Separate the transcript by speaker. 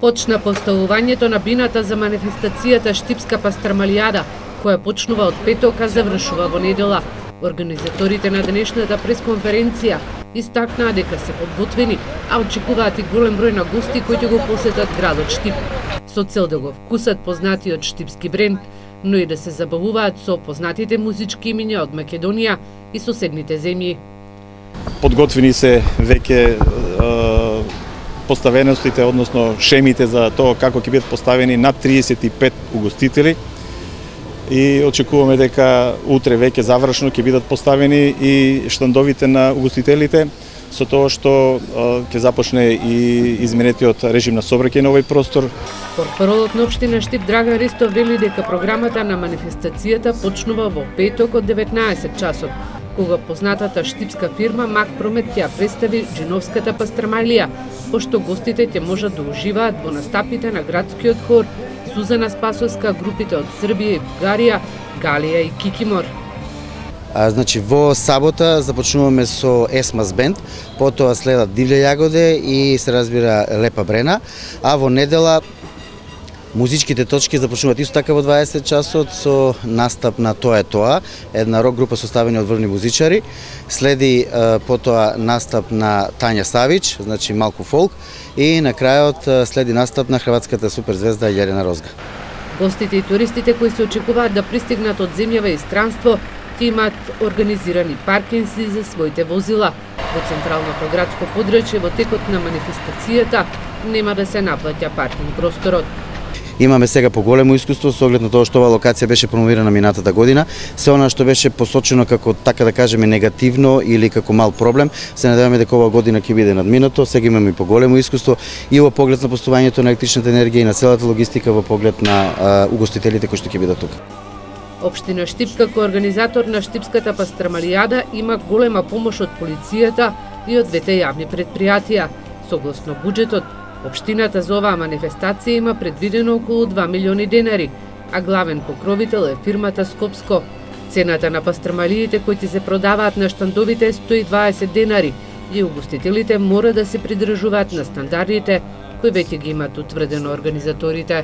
Speaker 1: Почна поставувањето на бината за манифестацијата Штипска пастрмалијада, која почнува од петок, а завршува во недела. Организаторите на денешната пресконференција истакнаа дека се подготвени, а очекуваат и голем број на гости кои ќе го посетат градот Штип, со цел да го вкусат познатиот штипски бренд, но и да се забавуваат со познатите музички имиња од Македонија и соседните земји.
Speaker 2: Подготвени се веќе поставеностите, односно шемите за тоа како ќе бидат поставени над 35 угостители и очекуваме дека утре веќе завршно ќе бидат поставени и штандовите на угостителите, со тоа што ќе започне и изменетиот режим на сообраќај на овој простор.
Speaker 1: Портпаролот на општина Штип Драган Ристов вели дека програмата на манифестацијата почнува во петок од 19 часот, кога познатата штипска фирма Мак Промет ќе представи Джиновската пастрмалија, пошто гостите ќе можат да уживаат во настапите на градскиот хор Сузана Спасовска, групите од Србија и Бугарија, Галија и Кикимор.
Speaker 3: Значи во сабота започнуваме со Есмас бенд, потоа следат Дивља јагоде и се разбира Лепа Брена, а во недела музичките точки започнуваат исто така во 20 часот со настап на Тоа е тоа, една рок група составена од врвни музичари. Следи потоа настап на Тања Савич, значи малку фолк, и на крајот следи настап на хрватската суперзвезда Јелена Розга.
Speaker 1: Гостите и туристите кои се очекуваат да пристигнат од земјава и странство ќе имаат организирани паркинзи за своите возила. Во централното градско подрачје во текот на манифестацијата нема да се наплаќа паркинг просторот.
Speaker 3: Имаме сега поголемо искуство со оглед на тоа што оваа локација беше промовирана минатата година. Се она што беше посочено како, така да кажеме, негативно или како мал проблем, се надеваме дека оваа година ќе биде надминато. Сега имаме и поголемо искуство и во поглед на постувањето на електричната енергија и на целата логистика во поглед на угостителите кои што ќе бидат тука.
Speaker 1: Општина Штип како организатор на Штипската пастрмалијада има голема помош од полицијата и од двете јавни предпријатија. Согласно буџетот, општината за оваа манифестација има предвидено околу 2 милиони денари, а главен покровител е фирмата Скопско. Цената на пастрмалиите кои ќе се продаваат на штандовите е 120 денари и угостителите мора да се придржуваат на стандардите кои веќе ги имаат утврдено организаторите.